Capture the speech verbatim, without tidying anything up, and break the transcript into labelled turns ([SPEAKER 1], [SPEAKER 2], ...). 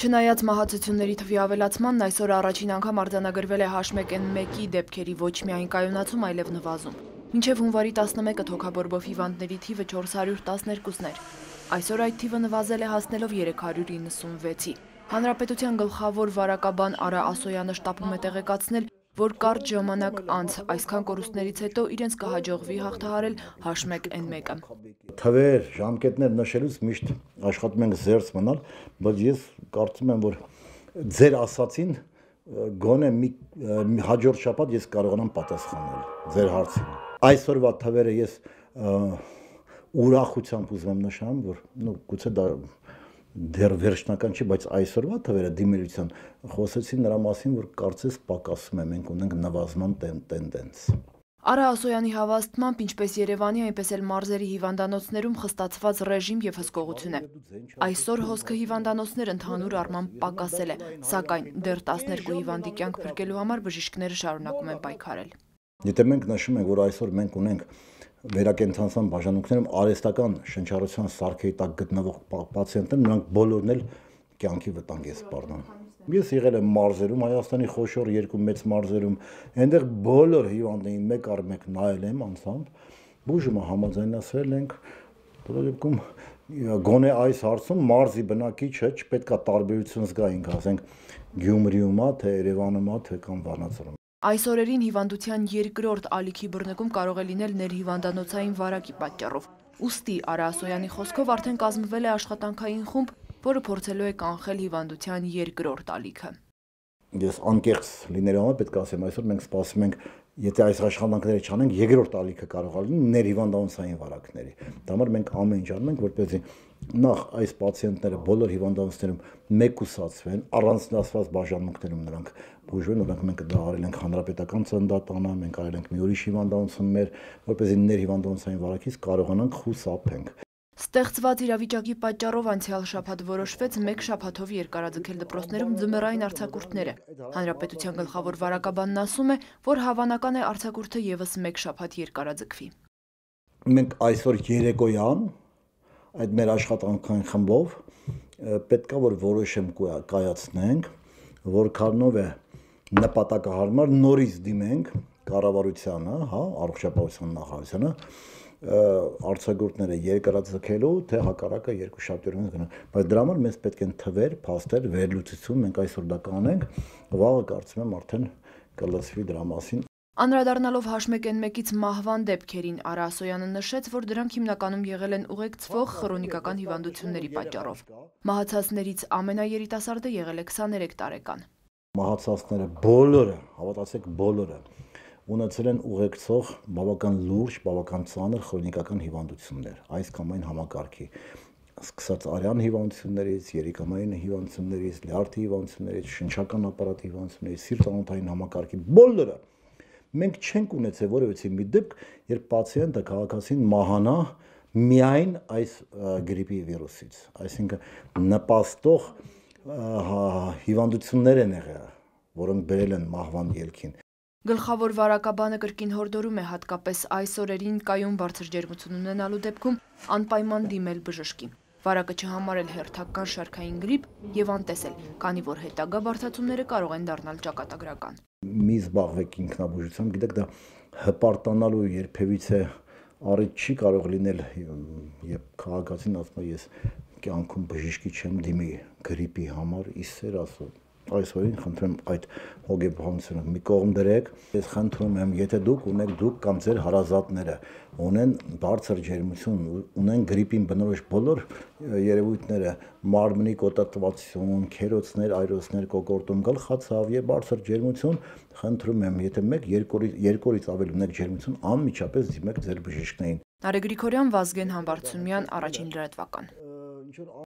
[SPEAKER 1] Չնայած մահացությունների թվի ավելացմանն, այսօր առաջին անգամ արձանագրվել է H one N one-ի դեպքերի ոչ միայն կայունացում, այլև նվազում։ Մինչև հունվարի տասնմեկը թոքաբորբով հիվանդների թիվը չորս հարյուր տասներկուսն էր։ Այսօր այդ թիվը նվազել է հասնելով երեք հարյուր իննսունվեցի։ Հանրապետության գլխավոր վարակաբան Արա Ասոյանը շտապում է տեղեկացնել, որ կարճ ժամանակ անց այսքան կորուստներից հետո իրենց կհաջողվի հաղթահարել H one N one-ը։
[SPEAKER 2] Թվեր, ժամկետներ նշելուց միշտ աշխատում ենք զերծ մնալ, բայց ես կարծում եմ, որ ձեր ասացին գոնե մի հաջորդ շաբաթ ես կարողանամ պատասխանել ձեր հարցին։ Այսօրվա թվերը ես ուրախությամբ ուզում եմ նշեմ, որ նո գուցե դա դեռ վերջնական չի, բայց այսօրվա թվերը դիմելության խոսեցին նրա մասին, որ կարծես պակասում է, մենք ունենք նվազման տենդենց։
[SPEAKER 1] Արա Ասոյանի հավաստմամբ, ինչպես Երևանի, այնպես էլ մարզերի հիվանդանոցներում խստացված ռեժիմ եւ հսկողություն է։ Այսօր հոսքը հիվանդանոցներ ընդհանուր առմամբ պակասել է, սակայն դեռ տասներկու հիվանդի կյանք փրկելու համար բժիշկները շարունակում են պայքարել։
[SPEAKER 2] Եթե մենք նշում ենք, որ այսօր մենք ունենք վերակենդանության բաժանմունքներում արհեստական շնչառության սարքերի տակ գտնվող պացիենտներ, նրանք բոլորն էլ կյանքի վտանգ է սպառնում։ Ես եղել եմ մարզերում, Հայաստանի խոշոր երկու մեծ մարզերում, այնտեղ բոլոր հիվանդներին մեկ առ մեկ նայել եմ անցամբ, բուժումը համաձայնացրել ենք, բոլոր դեպքում գոնե այս հարցում մարզի բնակիչը չպետք է տարբերություն զգայինք, ասենք Գյումրիում է, թե Երևանում է, թե կամ Վանաձորում։
[SPEAKER 1] Այս օրերին հիվանդության երկրորդ ալիքի բռնկում կարող է լինել ներհիվանդանոցային վարակի պատճառով։ Ուստի Արա Ասոյանի խոսքով արդեն կազմվել է աշխատանքային խումբ, որը փորձելու է կանխել հիվանդության երկրորդ ալիքը։
[SPEAKER 2] Ես անկեղծ լինելու համար պետք է ասեմ, այսօր մենք սպասում ենք, եթե այս աշխատանքները չանենք, երկրորդ ալիքը կարող է լինել ներհիվանդանոցային վարակների։ Դա համար մենք ամեն ինչ անում ենք, որպեսզի նախ այս պացիենտները բոլոր հիվանդանոցներում մեկուսացվեն, առանձնացված բաժանմունքներում նրանք բուժվեն, օրինակ մենք դա արել ենք հանրապետական ծննդատանը, մենք արել ենք մի ուրիշ հիվանդանոցում մեր, որպեսզի ներհիվանդանոցային վարակից կարողանանք խուսափենք։
[SPEAKER 1] Ստեղծված իրավիճակի պատճառով անցյալ շաբաթ որոշվեց մեկ շաբաթով երկարաձգել դպրոցներում ձմեռային արձակուրդները։ Հանրապետության գլխավոր վարակաբանն ասում է, որ հավանական է արձակուրդը եւս մեկ շաբաթ երկարաձգվի։
[SPEAKER 2] Մենք այսօր երեկոյան այդ մեր աշխատանքային խմբով պետք է որ որոշեմ կայացնենք, որքանով է նպատակահարմար նորից դիմենք կառավարությանը, հա, առողջապահության նախարարությանը արձակուրդները երկարաձգելու, թե հակառակը երկու շաբթի գնա, բայց դրա համար մեզ պետք են թվեր, փաստեր, վերլուծություն, մենք այսօր դա կանենք, վաղը կարծում եմ արդեն կլսվի դրա մասին։
[SPEAKER 1] Անդրադառնալով H one N one-ից մահվան դեպքերին, Արա Ասոյանը նշեց, որ դրանք հիմնականում եղել են ուղեկցվող խրոնիկական հիվանդությունների պատճառով։ Մահացածներից ամենաերիտասարդը եղել է քսաներեք տարեկան։
[SPEAKER 2] Մահացածները բոլորը, հավատացեք բոլորը, ունեցել են ուղեկցող բավական լուրջ, բավական ծանր խրոնիկական հիվանդություններ, այս կամ այն համակարգի, սկսած արյան հիվանդություններից, երիկամային հիվանդություններից, լյարդի հիվանդություններից, շնչական ապարատի հիվանդություններից, սիրտ-անոթային համակարգի, բոլորը։ Մենք չենք ունեցել որևէ մի դեպք, երբ պացիենտը քաղաքացին մահանա միայն այս գրիպի վիրուսից, այսինքն նպաստող հիվանդություններ են եղել, որոնք բերել են մահվան ելքին։
[SPEAKER 1] Գլխավոր վարակաբանը կրկին հորդորում է հատկապես այս օրերին կայուն բարձր ջերմություն ունենալու դեպքում անպայման դիմել բժշկի, վարակը չհամարել հերթական շարքային գրիպ եւ անտեսել, քանի որ հետագա բարդացումները կարող են դառնալ ճակատագրական։
[SPEAKER 2] Մի զբաղվեք ինքնաբուժությամբ, գիտեք, դա հպարտանալու երբևիցե առիթ չի կարող լինել, երբ քաղաքացին ասում է ես կյանքում բժշկի չեմ դիմի գրիպի համար, իսեր ասում։ Այսօրին խնդրեմ այդ հոգեբանությունը մի կողմ դրեք, ես խնդրում եմ, եթե դուք ունեք դուք կամ ձեր հարազատները ունեն բարձր ջերմություն, ունեն գրիպին բնորոշ բոլոր երևույթները, մարմնի կոտատվածություն, քերոցներ, այրոցներ, կոկորտում, գլխացավ եւ բարձր ջերմություն, խնդրում եմ, եթե մեկ երկու օրից ավելի ունեք ջերմություն, անմիջապես դիմեք ձեր բժիշկներին։
[SPEAKER 1] Նարեկ Գրիգորյան, Վազգեն Համբարձումյան, Առաջին լրատվական։